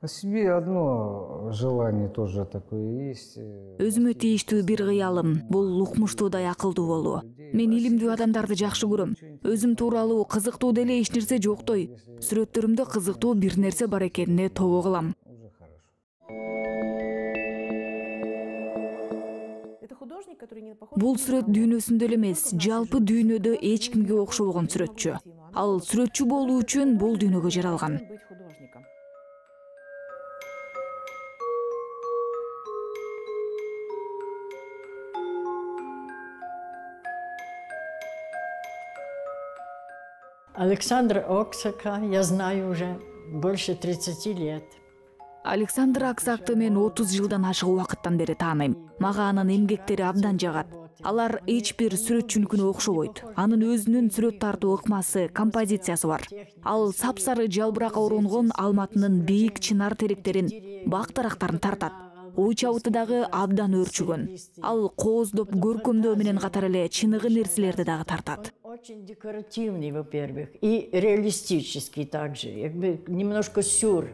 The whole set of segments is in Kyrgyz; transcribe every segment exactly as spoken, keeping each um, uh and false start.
О себе одно желание тоже такое есть. Өзүмө тийиштүү бир кыялым бул укмуштуудай акылдуу болуу. Мен илимдүү адамдарды жакшы көрөм. Өзүм тууралуу кызыктуу деле эч нерсе жоктой. Сүрөттөрүмдө кызыктуу бир нерсе бар экенине тобо кылам. Бул сүрөт дүйнөсүндө эле эмес, жалпы дүйнөдө эч кимге окшобогон сүрөтчү. Ал сүрөтчү болуу үчүн бул дүйнөгө жаралган. Александра Оксака я знаю уже больше тридцати лет. Александр Аксакты мен отуз жылдан ашык убакыттан бери тааныйм. Мага анын эмгектери абдан жагат. Алар эч бир сүрөтчүнүкүнө окшобойт. Анын өзүнүн сүрөт тартуу ыкмасы, композициясы бар. Ал сапсары жалбырак оронгон алматынын бийик чынар теректерин, бак дарактарын тартат. Ой чабыты дагы абдан өөрчүгөн. Ал кооздоп, көркөмдөө менен катар эле чыныгы нерселерди дагы тартат. Очень декоративный, во-первых, и реалистический также, немножко сюр.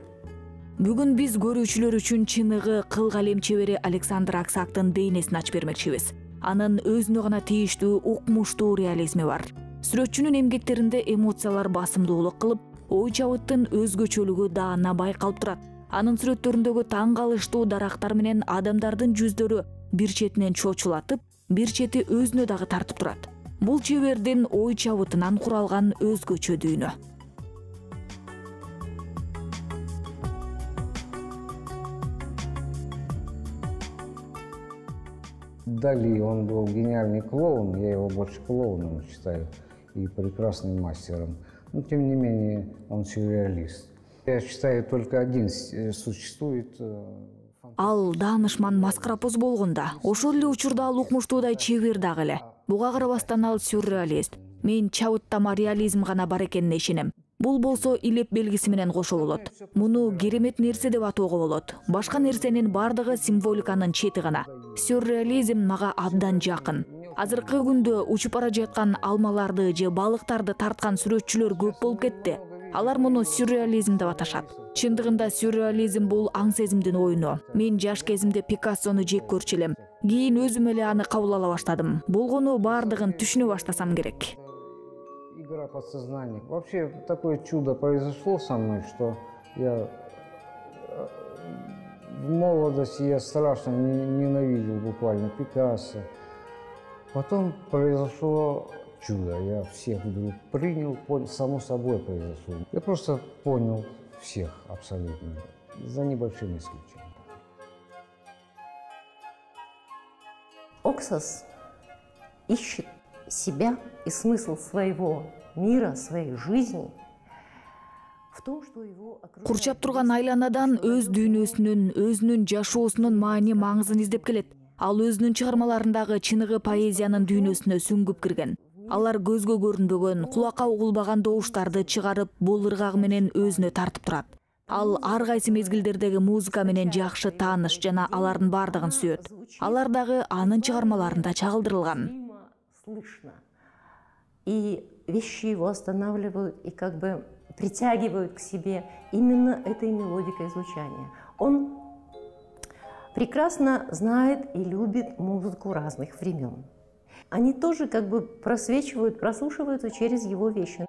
Бүгүн биз көрүүчүлөр үчүн чыныгы кыл калем чебери Александр Аксактын дейнесин ачып бермекчибиз. Анын өзүнө гана тийиштүү укмуштуу реализми бар. Сүрөтчүнүн эмгектеринде эмоциялар басымдуулук кылып, ой чабыттын өзгөчөлүгү даана байкалып турат. Анын сүрөттөрүндөгү таң калыштуу дарактар менен адамдардын жүздөрү бир четинен чочулатып, бир чети өзүнө дагы тартып турат. Бул чебердин ой чабытынан куралган өзгөчө дүйнө. Дали, он был гениальный клоун, я его больше клоуном считаю, и прекрасным мастером. Но тем не менее, он сюрреалист. Я считаю, только один существует. Ал даанышман маскарапоз болгонда, ошол эле учурда ал укмуштуудай чебер дагы эле. Буга карабастан ал сюрреалист. Мен чабыттама реализм гана бар экенине ишенем. Бул болсо илеп белгиси менен кошо болот. Муну керемет нерсе деп атоого болот. Башка нерсенин бардыгы символиканын чети гана. Сюрреализм мага абдан жакын. Азыркы күндө учуп бара жаткан алмаларды же балыктарды тарткан сүрөтчүлөр көп болуп кетти. Алар муну сюрреализм деп аташат. Чындыгында сюрреализм бул аң сезимдин оюну. Мен жаш кезимде Пикассону жек көрчү элем. Кийин өзүм эле аны кабыл ала баштадым. Болгону бардыгын түшүнө баштасам керек. Игра подсознания. Вообще такое чудо произошло со мной, что я в молодости я страшно ненавидел буквально Пикассо. Потом произошло чудо. Я всех вдруг принял, понял, само собой произошло. Я просто понял всех абсолютно, за небольшим исключением. Оксас ищет себя и смысл своего мира, своей жизни в том, что его окружает. Курчап турган айланадан өз дүйнөсүнүн, өзүнүн жашоосунун маани маңызын издеп келет. Ал өзүнүн чыгармаларындагы чыныгы поэзиянын дүйнөсүнө сүңгүп кирген. Алар көзгө көрүнбөгөн, кулакка угулбаган добуштарды чыгарып, бул ыргагы менен өзүнө тартып турат. Ал ар кайсы мезгилдердеги музыка менен жакшы тааныш жана алардын бардыгын сүйөт. Алар дагы анын чыгармаларында чагылдырылган. Слышно. И вещи его останавливают и как бы притягивают к себе именно этой мелодикой звучания. Он прекрасно знает и любит музыку разных времен. Они тоже как бы просвечивают, прослушиваются через его вещи.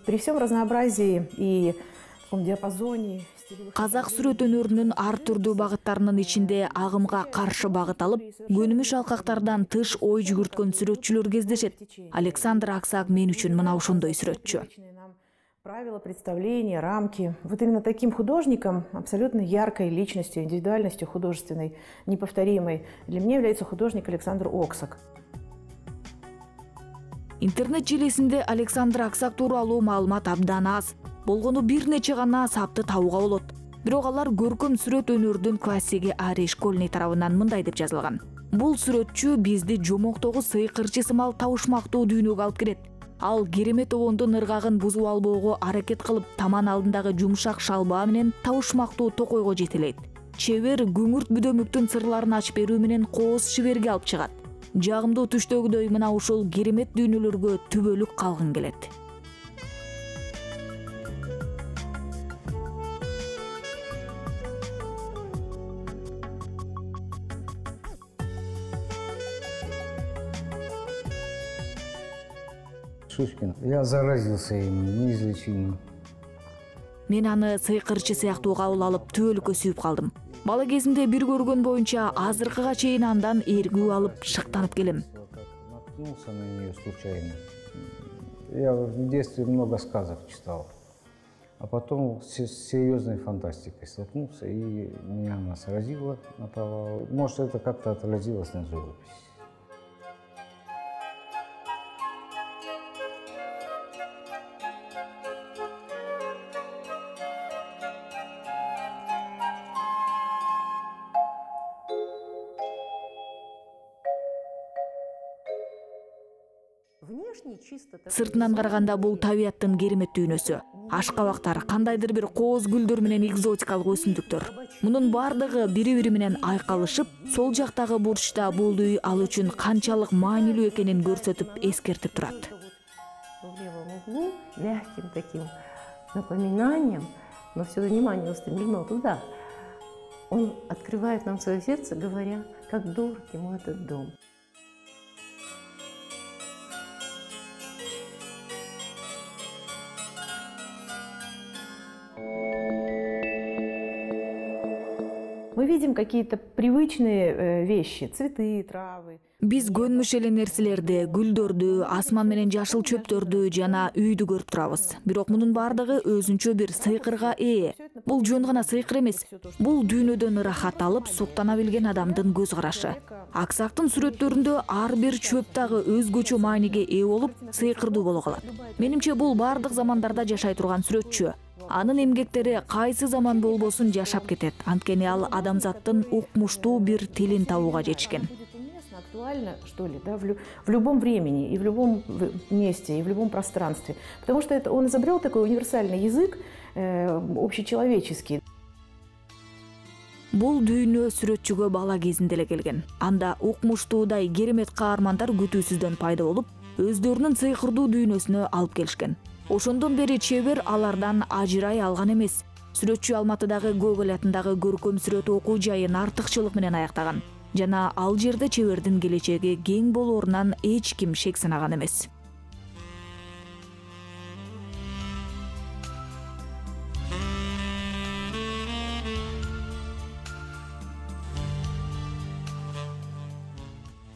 При всем разнообразии и таком диапазоне Казак сүрөт өнөрүнүн ар түрдүү багыттарынын ичинде агымга каршы багыт алып, көнүмүш алкактардан тыш ой жүгүрткөн сүрөтчүлөр кездешет. Александр Аксак мен үчүн мына ошондой сүрөтчү. Правила, представления, рамки. Вот именно таким художником, абсолютно яркой личностью, индивидуальностью художественной, неповторимой, для меня является художник Александр Оксак. Интернет желесинде Александр Аксак тууралуу маалымат абдан аз. Болгону бир нече гана сапты табууга болот. Бирок алар көркөм сүрөт өнөрүнүн классиги Ари Школьный тарабынан мындай деп жазылган. Бул сүрөтчү бизди жомоктогу сыйкырчы сымал табышмактуу дүйнөгө алып кирет. Ал керемет обондун ыргагын бузуп албоого аракет кылып, таман алдындагы жумшак шалбаа менен табышмактуу токойго жетелейт. Чебер күңүрт бүдөмүктүн сырларын ачып берүү менен кооз шиберге алып чыгат. Жагымдуу түштөгүдөй мына ушул керемет дүйнөлөргө түбөлүк калгың келет. Шишкин. Я заразился им неизлечимо. Мен аны сыйкырчы сыяктуу кабыл алып түбөлүккө сүйүп калдым. Бала кезимде бир көргөн боюнча азыркыга чейин андан эргүү алып шыктанып келем. Наткнулся на нее случайно. Я в детстве много сказок читал. А потом с серьезной фантастикой столкнулся, и меня она сразила направо. Может, это как-то отразилось на живописи. Сыртынан караганда бул табияттын керемет дүйнөсү. Ашкабактар, кандайдыр бир кооз гүлдөр менен экзотикалык өсүмдүктөр. Мунун бардыгы бири-бири менен айкалышып, сол жактагы бурчта бул үй ал үчүн канчалык маанилүү экенин көрсөтүп, эскертип турат. В левом углу мягким таким напоминанием, но все внимание устремлено туда. Он открывает нам свое сердце, говоря, как дорог ему этот дом. Мы видим какие-то привычные вещи, цветы, травы. Биз көнмүш эле нерселерди, гүлдөрдү, асман менен жашыл чөптөрдү жана үйдү көрүп турабыз. Бирок мунун бардыгы өзүнчө бир сыйкырга ээ. Бул жөн гана сыйкыр эмес. Бул дүйнөдөн ырахат алып, суктана билген адамдын көз карашы. Аксактын сүрөттөрүндө ар бир чөп дагы өзгөчө мааниге ээ болуп, сыйкырдуу боло калат. Менимче бул бардык замандарда жашай турган сүрөтчү. Анын эмгектери кайсы заман болбосун жашап кетет. Анткени ал адамзаттын укмуштуу бир тилин табууга жетишкен. Актуально, что ли, да, в, лю в любом времени, и в любом месте, и в любом пространстве. Потому что это, он изобрел такой универсальный язык, э, общечеловеческий. Бул дүйнө сүрөтчүгө бала кезинде эле келген. Анда укмуштуудай керемет каармандар күтүүсүздөн пайда болуп, өздөрүнүн сыйкырдуу дүйнөсүнө алып келишкен. Ошондон бери чебер алардан ажырай алган эмес. Сүрөтчү Алматыдагы Гоголь атындагы көркөм сүрөт окуу жайын артыкчылык менен аяктаган. Жана ал жерде чебердин келечеги кең болоорунан эч ким шек санаган эмес.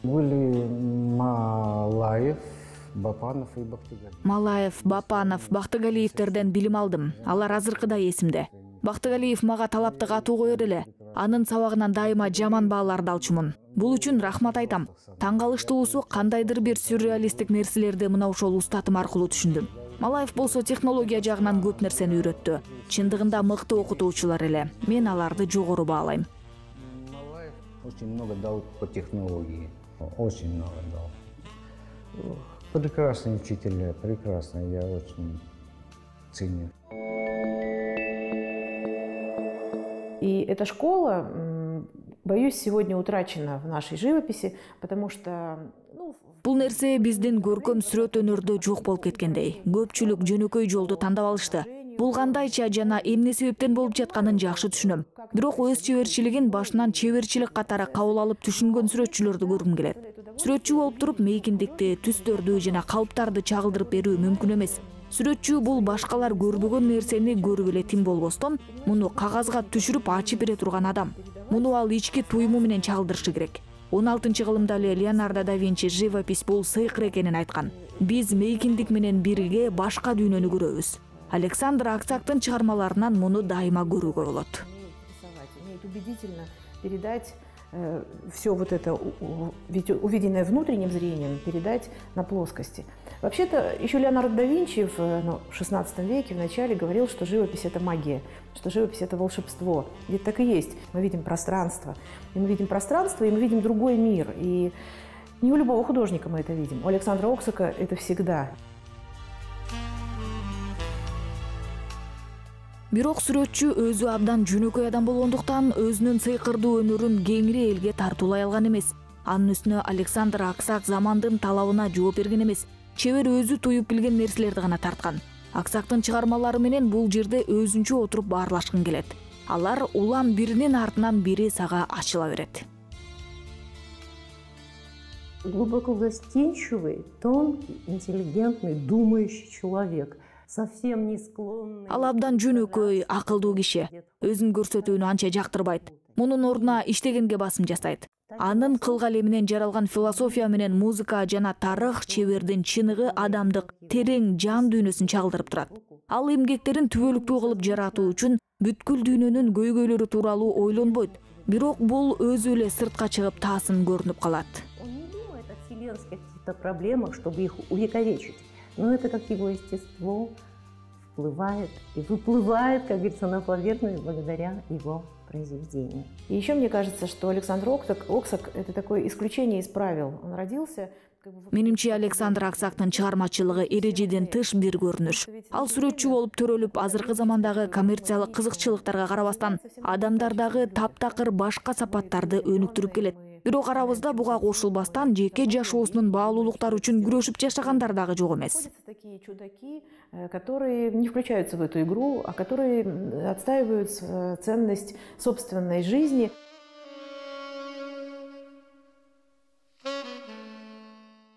Были Малаев, Бапанов и Бактыгалиев. Малаев, Бапанов, Бактыгалиевтерден билим алдым. Алар азыркыдай эсимде. Бактыгалиев мага талаптык атуу коёр эле. Анын сабагынан дайыма жаман бааларды алчумун. Бул үчүн рахмат айтам. Таң калыштуусу кандайдыр бир сюрреалисттик нерселерди мына ошол устатым аркылуу түшүндүм. Малаев болсо технология жагынан көп нерсени үйрөттү. Чындыгында мыкты окутуучулар эле. Мен аларды жогору баалайм. Малаев очень много дал по технологии. Очень много дал. Прекрасные учителя, прекрасные, я очень ценю. И эта школа, боюсь, сегодня утрачена в нашей живописи, потому что... Бул нерсе биздин көркөм сүрөт өнөрдө жок болуп кеткендей. Көпчүлүк жөнөкөй жолду тандап алышты. Бул кандайча жана эмне себептен болуп жатканын жакшы түшүнөм. Бирок өз чеберчилигин башынан чеберчилик катары кабыл алып түшүнгөн сүрөтчүлөрдү көргүм келет. Сүрөтчү болуп туруп мейкиндикти, түстөрдү жана калыптарды чагылдырып берүү мүмкүн эмес. Сүрөтчү бул башкалар көрбөгөн нерсени көрүп эле тим болбостон, муну кагазга түшүрүп ачып бере турган адам. Муну ал ички туюму менен чагылдырышы керек. он алтынчы кылымда эле Леонардо да Винчи живопись бул сыйкыр экенин айткан. Биз мейкиндик менен бирге башка дүйнөнү көрөбүз. Александр Аксактын чыгармаларынан муну дайыма көрүүгө болот. Умеет убедительно передать э, все вот это увиденное внутренним зрением, передать на плоскости. Вообще-то еще Леонардо да Винчи в ну, шестнадцатом веке в начале говорил, что живопись — это магия, что живопись — это волшебство. Ведь так и есть. Мы видим пространство. И мы видим пространство, и мы видим другой мир. И не у любого художника мы это видим. У Александра Оксака это всегда. Бирок сүрөтчү өзү абдан жөнөкөй адам болгондуктан өзүнүн сыйкырдуу өнөрүн кеңири элге тартуулай алган эмес. Анын үстүнө Александр Аксак замандын талабына жооп берген эмес, чебер өзү туюп билген нерселерди гана тарткан. Аксактын чыгармалары менен бул жерде өзүнчө отуруп баарлашкын келет. Алар улам биринин артынан бири сага ачыла берет. Глубоко застенчивый, тонкий, интеллигентный, думающий человек. Совсем не склонный. Ал абдан жөнөкөй, акылдуу киши. Өзүн көрсөтүүнү анча жактырбайт. Мунун ордуна иштегенге басым жасайт. Анын кылгале менен жаралган философия менен музыка жана тарых чебердин чыныгы адамдык терең жан дүйнөсүн чагылдырып турат. Ал эмгектерин түбөлүктүү кылып жаратуу үчүн бүткүл дүйнөнүн көйгөйлөрү тууралуу ойлонбойт. Бирок бул өзү эле сыртка чыгып таасын көрүнүп калат. Он не думает о вселенских каких-то проблемах, чтобы их увековечить. Но это как его естество всплывает и выплывает, как говорится, на поверхность благодаря его произведению. И еще мне кажется, что Александр Оксак, Оксак – это такое исключение из правил. Он родился... Менимче Александр Аксактын чыгармачылыгы эрежеден тыш бир көрүнүш. Ал сүрөтчү болуп төрөлүп, азыркы замандагы коммерциялык кызыкчылыктарга карабастан адамдардагы таптакыр башка сапаттарды өнүктүрүп келет. Бирок арабызда буга кошулбастан жеке жашоосунун баалуулуктары үчүн күрөшүп жашагандар дагы жок эмес. Такие чудаки, которые не включаются в эту игру, а которые отстаивают ценность собственной жизни.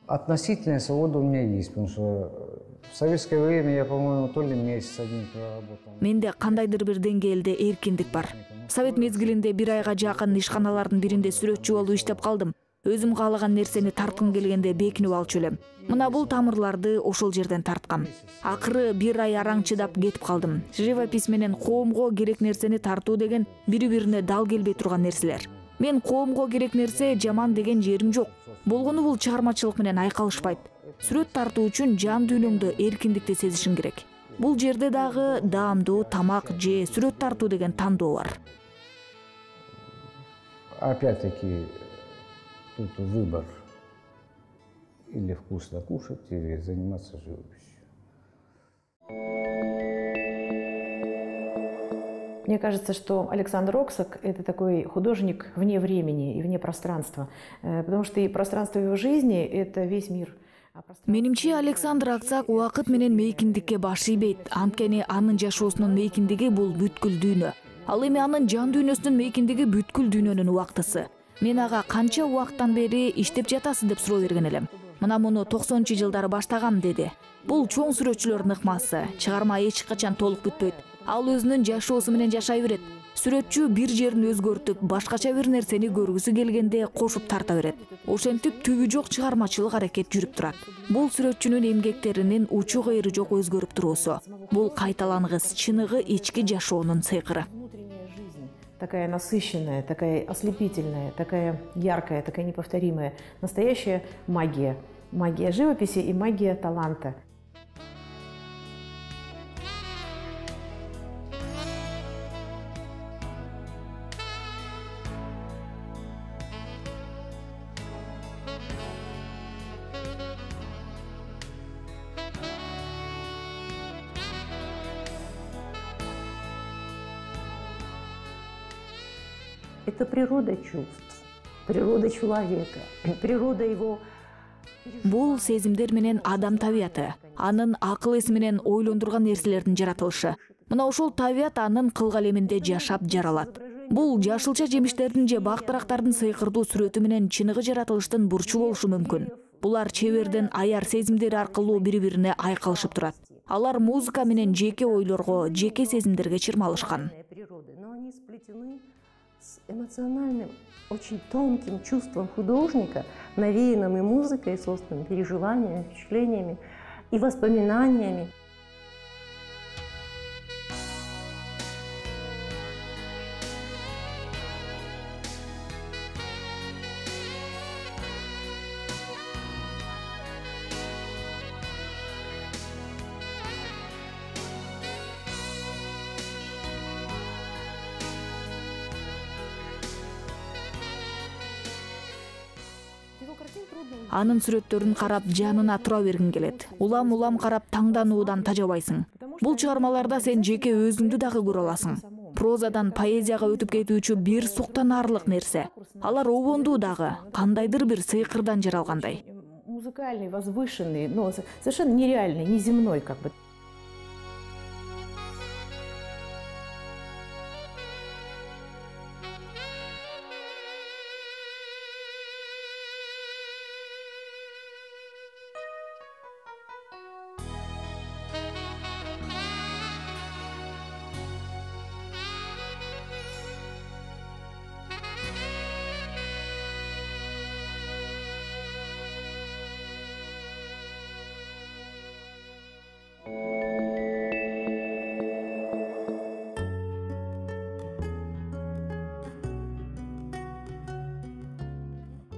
Относительная свобода у меня есть, потому что в советское время я, по-моему, то ли месяц один проработал. Менде кандайдыр бир деңгээлде эркиндик бар. Совет мезгилинде бир айга жакын ишканалардын биринде сүрөтчү болуп иштеп калдым. Өзүм каалаган нерсени тарткым келгенде бекинип алчу элем. Мына бул тамырларды ошол жерден тарткам. Акыры бир ай араң чыдап кетип калдым. Живопись менен коомго керек нерсени тартуу деген бири-бирине дал келбей турган нерселер. Мен коомго керек нерсе жаман деген жерим жок. Болгону бул чыгармачылык менен айкалышпайт. Сүрөт тартуу үчүн жан дүйнөңдө эркиндикти сезишиң керек. Бул жерде дагы даамдуу тамак же сүрөт тартуу деген тандоо бар. Опять-таки, тут выбор. Или вкусно кушать, или заниматься живописью. Мне кажется, что Александр Оксак – это такой художник вне времени и вне пространства, потому что и пространство его жизни – это весь мир. Менимче Александр Аксак убакыт менен мейкиндикке баш ийбейт. Анткени анын жашоосунун мейкиндиги бул бүткүл дүйнө. Ал эми анын жан дүйнөсүнүн мейкиндиги бүткүл дүйнөнүн убактысы. Мен ага канча убакыттан бери иштеп жатасыз деп суроо берген элем. Мына муну токсонунчу жылдары баштагам деди. Бул чоң сүрөтчүлөрдүн ыкмасы. Чыгарма эч качан толук бүтпөйт. Ал өзүнүн жашоосу менен жашай берет. Сүрөтчү бир жерин өзгөртүп, башкача бир нерсени көргүсү келгенде кошуп тарта берет. Ошентип түбү жок чыгармачылык аракет жүрүп турат. Бул сүрөтчүнүн эмгектеринин учу кайры жок өзгөрүп туруусу. Бул кайталангыс, чыныгы ички жашоонун сыйкыры. Такая насыщенная, такая ослепительная, такая яркая, такая неповторимая. Настоящая магия. Магия живописи и магия таланта. Это природа чувств, природа человека, природа его. Бул сезимдер менен адам табияты, анын акыл эси менен ойлондурган нерселердин жаратылышы. Мына ошол табият анын кылгалеминде жашап жаралат. Бул жашылча жемиштердин же бактырактардын сыйкырдуу сүрөтү менен чыныгы жаратылыштын бурчу болушу мүмкүн. Булар чебердин аяр сезимдери аркылуу бири-бирине айкалышып турат. Алар музыка менен жеке ойлорго, жеке сезимдерге чырмалышкан. С эмоциональным, очень тонким чувством художника, навеянным и музыкой, и собственными переживаниями, впечатлениями и воспоминаниями. Анын сүрөттөрүн карап жанына тура бергиң келет. Улам-улам карап таңдануудан тажабайсың. Бул чыгармаларда сен жеке өзүңдү дагы көрө аласың. прозадан поэзияга өтүп кетүүчү бир суктанаарлык нерсе. Алар обондуу дагы, кандайдыр бир сыйкырдан жаралгандай. Музыкальный, возвышенный, но совершенно нереальный, неземной как бы.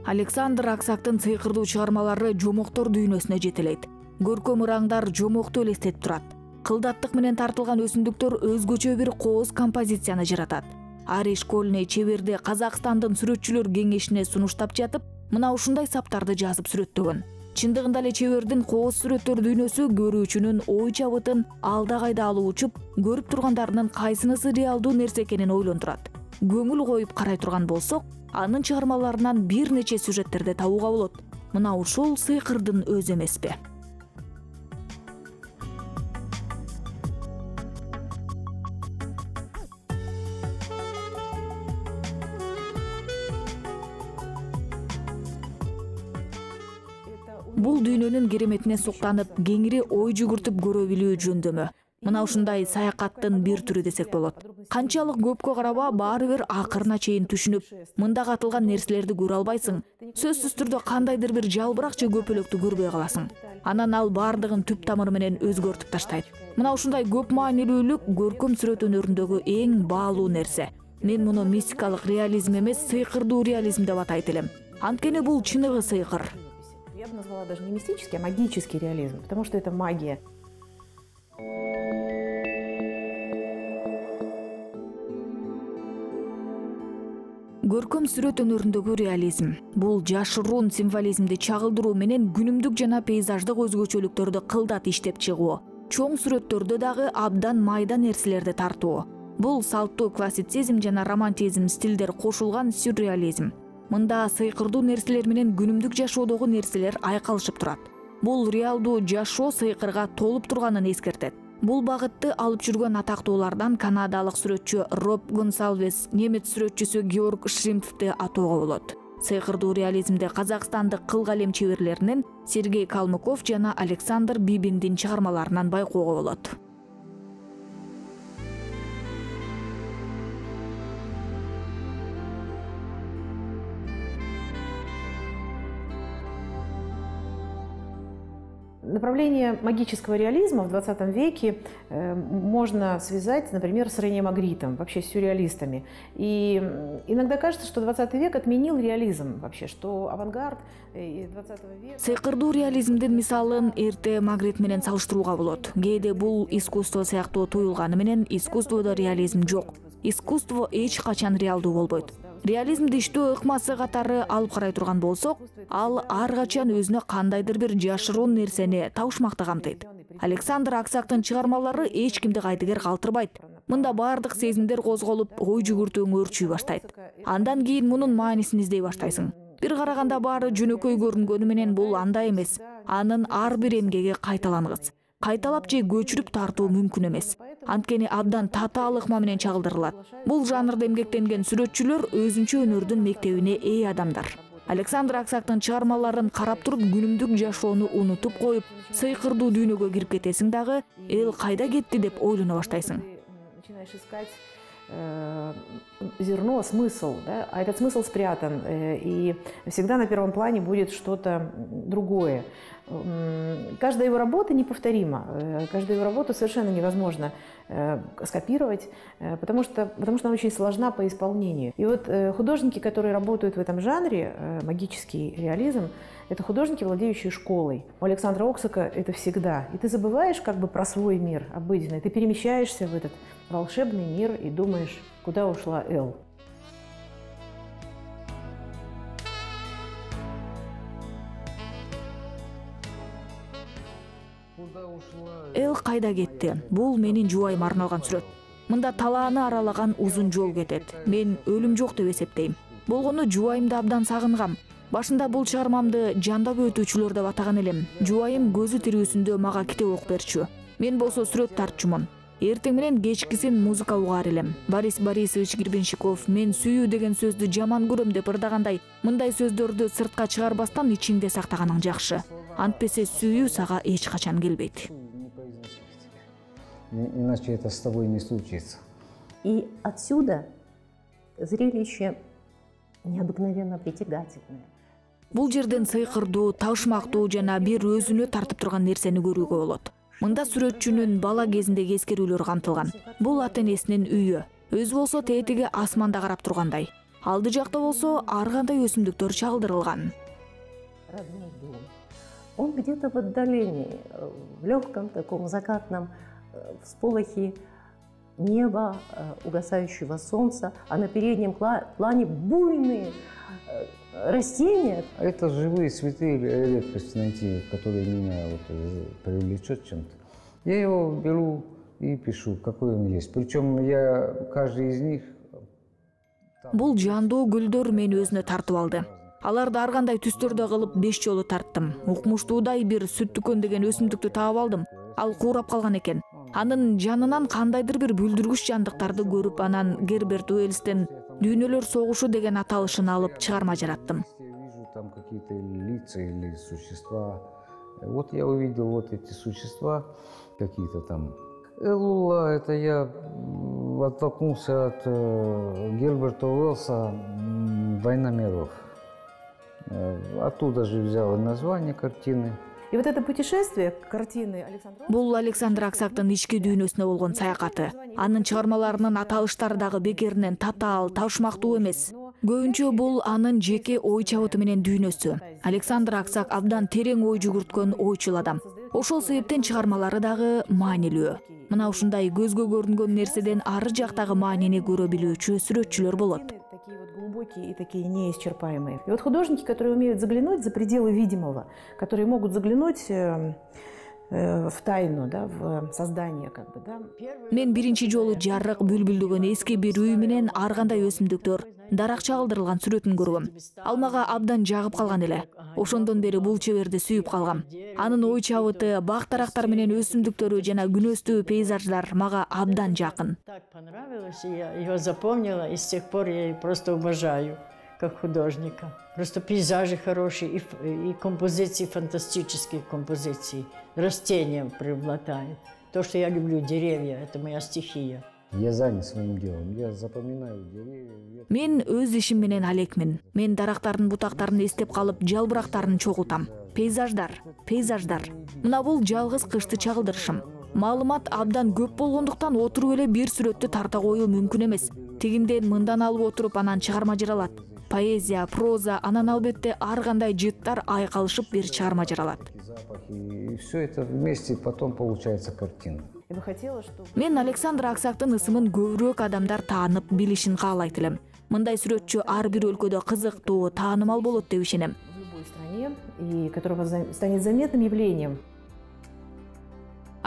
Александр Аксактын сыйкырдуу чыгармалары жомоктор дүйнөсүнө жетелейт. Көркөм ыраңдар жомокту элестетип турат. Кылдаттык менен тартылган өсүмдүктөр өзгөчө бир кооз композицияны жаратат. Ари Школьный чеберди Казакстандын сүрөтчүлөр кеңешине сунуштап жатып, мына ушундай саптарды жазып сүрөттөгөн. Чындыгында эле чебердин кооз сүрөттөр дүйнөсү көрүүчүнүн ой чабытын алда кайда алып учуп, көрүп тургандарынын кайсынысы реалдуу нерсе экенин ойлонтурат. Көңүл коюп карай турган болсок, анын чыгармаларынан бир нече сюжеттерди табууга болот. Мына ушул сыйкырдын өзү эмеспи? Бул дүйнөнүн кереметине суктанып, кеңири ой жүгүртүп көрө билүү жөндөмү. Мына ушундай саякаттын бир түрү десек болот. Канчалык көпкө караба, баары бир акырына чейин түшүнүп, мындагы атылган нерселерди көрө албайсың. Сөзсүз түрдө кандайдыр бир жалбырак же көпөлөктү көрбөй каласың. Анан ал баардыгын түп тамыры менен өзгөртүп таштайт. Мына ушундай көп маанилүүлүк көркөм сүрөт өнөрүндөгү эң баалуу нерсе. Мен муну мистикалык реализм эмес, сыйкырдуу реализм деп атайт элем. Анткени бул чыныгы сыйкыр. Я бы назвала даже не мистический, а магический реализм, потому что это магия. Көркөм сүрөт өнөрүндөгү реализм бул жашыруун символизмди чагылдыруу менен күнүмдүк жана пейзаждык өзгөчөлүктөрдү кылдат иштеп чыгуу. Чоң сүрөттөрдө дагы абдан майда нерселерди тартуу. Бул салттуу классицизм жана романтизм стилдер кошулган сюрреализм. Мында сыйкырдуу нерселер менен күнүмдүк жашоодогу нерселер айкалышып турат. Бул реалдуу жашоо сыйкырга толуп турганын эскертет. Бул багытты алып жүргөн атактуулардан канадалык сүрөтчү Роб Гонсалвес, немец сүрөтчүсү Георг Шримптти атоого болот. Сыйкырдуу реализмде казакстандык кыл калем чеберлеринен Сергей Калмыков жана Александр Бибиндин чыгармаларынан байкоого болот. Направление магического реализма в двадцатом веке э, можно связать, например, с Рене Магритом, вообще с сюрреалистами. И иногда кажется, что двадцатый век отменил реализм вообще, что авангард двадцатого века... Сыйкырдуу реализмдин мисалын эрте Магрит менен салыштырууга болот. Кээде бул искусство сыяктуу туюлганы менен искусстводо реализм жок. Искусство эч качан реалдуу болбойт. Реализмди иштөө ыкмасы катары алып карай турган болсок, ал ар качан өзүнө кандайдыр бир жашыруун нерсени табышмакты камтыйт. Александр Аксактын чыгармалары эч кимди кайдыгер калтырбайт. Мында баардык сезимдер козголуп, ой жүгүртүүң өөрчүй баштайт. Андан кийин мунун маанисин издей баштайсың. Бир караганда баары жөнөкөй көрүнгөнү менен бул андай эмес. Анын ар бир эмгеги кайталангыс. Кайталап же көчүрүп тартуу мүмкүн эмес. Анткени абдан татаал ыкма менен чагылдырылат. Бул жанрда эмгектенген сүрөтчүлөр өзүнчө өнөрдүн мектебине ээ адамдар. Александр Аксактын чыгармаларын карап туруп күнүмдүк жашоону унутуп коюп, сыйкырдуу дүйнөгө кирип кетесиң дагы, эл кайда кетти деп ойлоно баштайсың. Начинаешь искать э, зерно, смысл, да? А этот смысл спрятан, э, и всегда на первом плане будет что-то другое. Каждая его работа неповторима, каждую его работу совершенно невозможно скопировать, потому что, потому что она очень сложна по исполнению. И вот художники, которые работают в этом жанре, магический реализм, это художники, владеющие школой. У Александра Аксака это всегда. И ты забываешь как бы про свой мир обыденный, ты перемещаешься в этот волшебный мир и думаешь, куда ушла Эл. Эл кайда кетти? Бул менин жубайыма арналган сүрөт. Мында талааны аралаган узун жол кетет. Мен өлүм жок деп эсептейм. Болгону жубайымды абдан сагынгам. Башында бул чыгармамды жандап өтүүчүлөр деп атаган элем. Жубайым көзү тирүүсүндө мага китеп окуп берчү. Мен болсо сүрөт тартчумун. Эртең менен кечкисин музыка угаар элем. Борис Борисович Гребенщиков мен сүйүү деген сөздү жаман көрөм деп ырдагандай, мындай сөздөрдү сыртка чыгарбастан ичиңде сактаганың жакшы. Антпесе сүйүү сага эч качан келбейт. Иначе это с тобой не случится. И отсюда зрелище необыкновенно притягательное. Бул жерден сыйкырдуу, табышмактуу жана бир өзүнө тартып турган нерсени көрүүгө болот. Мында сүрөтчүнүн бала кезиндеги эскерүүлөрү камтылган. Бул ата энесинин үйү. Өзү болсо тетиги асманда карап тургандай. Алды жакта болсо ар кандай өсүмдүктөр чагылдырылган. Родной дом. Он где-то в отдалении, в легком таком закатном всполохе неба, угасающего солнца, а на переднем плане буйные растения. Это живые цветы, редкость найти, которые меня вот привлечет чем-то. Я его беру и пишу, какой он есть. Причем я каждый из них. Бул жандуу гүлдөр мени өзүнө тартып алды. Аларды ар кандай түстөрдө кылып беш жолу тарттым. Укмуштуудай бир сүттүкөн деген өсүмдүктү таап алдым. Ал куурап калган экен. Анын жанынан кандайдыр бир бүлдүргүч жандыктарды көрүп, анан Герберт Уэллстен «Дүйнөлөр согушу» деген аталышын алып чыгарма жараттым. Вижу там какие-то лица или существа. Вот я увидел вот эти существа какие-то там. Элула, это я оттолкнулся от Герберта Уэллса «Война миров». Оттуда же взял название картины. И вот это путешествие картины Александра... Бул Александр Аксактын ички дүйнөсүнө болгон саякаты. Анын чыгармаларынын аталыштары дагы бекеринен татаал, табышмактуу эмес. Көбүнчө бул анын жеке ой чабыты менен дүйнөсү. Александр Аксак абдан терең ой жүгүрткөн ойчул адам. Ошол себептен чыгармалары дагы маанилүү. Мына ушундай көзгө көрүнгөн нерседен ары жактагы маанини көрө билүүчү сүрөтчүлөр болот. Такие вот глубокие и такие неисчерпаемые. И вот художники, которые умеют заглянуть за пределы видимого, которые могут заглянуть э, э, в тайну, да, в создание, как бы, да. Мен биринчи жолу жарык бүлбүлдөгөн эски бир үй менен ар кандай өсүмдүктөр, дарак чагылдырылган сүрөтүн көргөм. Ал мага абдан жагып калган эле. Ошондон бери бул чеберди сүйүп калгам. Анын ой чабыты, бак дарактар менен өсүмдүктөрү жана күнөстүү пейзаждар мага абдан жакын. Так понравилось, и я его запомнила, и с тех пор я ее просто обожаю как художника. Просто пейзажи хорошие, и, и композиции фантастические, композиции. Растения преобладают. То, что я люблю, деревья, это моя стихия. Я занят своим делом, я запоминаю деревья. Мен өз ишим менен алекмин. Мен дарактардын бутактарын эстеп калып, жалбырактарын чогултам. Пейзаждар, пейзаждар. Мына бул жалгыз кышты чагылдырышым. Маалымат абдан көп болгондуктан отуруп эле бир сүрөттү тарта коюу мүмкүн эмес. Тигинден мындан алып отуруп анан чыгарма жаралат. Поэзия, проза, анан албетте ар кандай жыттар айкалышып бир чыгарма жаралат. И все это вместе потом получается картина. Я бы хотела, чтобы... Мен Александр Аксактын ысымын көбүрөөк адамдар таанып билишин каалайт элем. Мындай сүрөтчү ар бир өлкөдө кызыктуу, таанымал болот деп ишенем. В любой стране, и которого станет заметным явлением.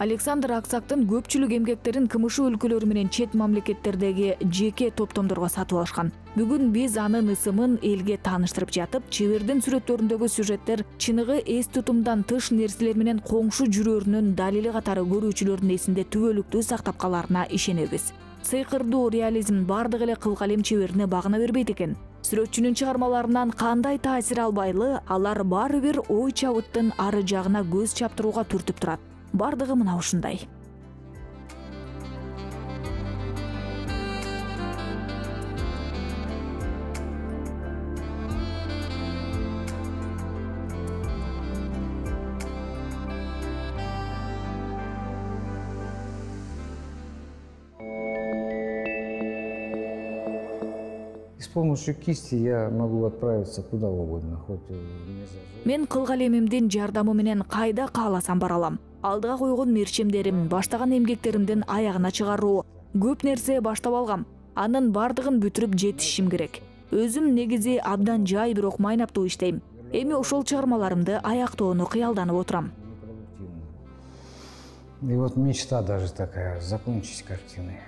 Александр Аксактын көпчүлүк эмгектерин КМШ өлкөлөрү менен чет мамлекеттердеги жеке топтомдорго сатып алышкан. Бүгүн биз анын ысымын элге тааныштырып жатып, чебердин сүрөттөрүндөгү сюжеттер чыныгы эс тутумдан тыш нерселер менен коңшу жүрөрүнүн далили катары көрүүчүлөрдүн эсинде түбөлүктүү сактап каларына ишенебиз. Сыйкырдуу реализм бардык эле кыл калем чеберине багына бербейт экен. Сүрөтчүнүн чыгармаларынан кандай таасир албайлы, алар баары бир ой чабыттын ары жагына көз чаптырууга түртүп турат. Бардыгы мына ушундай. С помощью кисти я могу отправиться куда угодно, хоть не за... Мен кыл калемимдин жардамы менен кайда кааласам бара алам. Алдыга койгон мерчемдерим, баштаган эмгектеримдин аягына чыгаруу, көп нерсе баштап алгам. Анын бардыгын бүтүрүп жетишим керек. Өзүм негизи абдан жай, бирок майнаптуу иштейм. Эми ошол чыгармаларымды аяктоону кыялданып отурам. И вот мечта даже такая, закончить картины.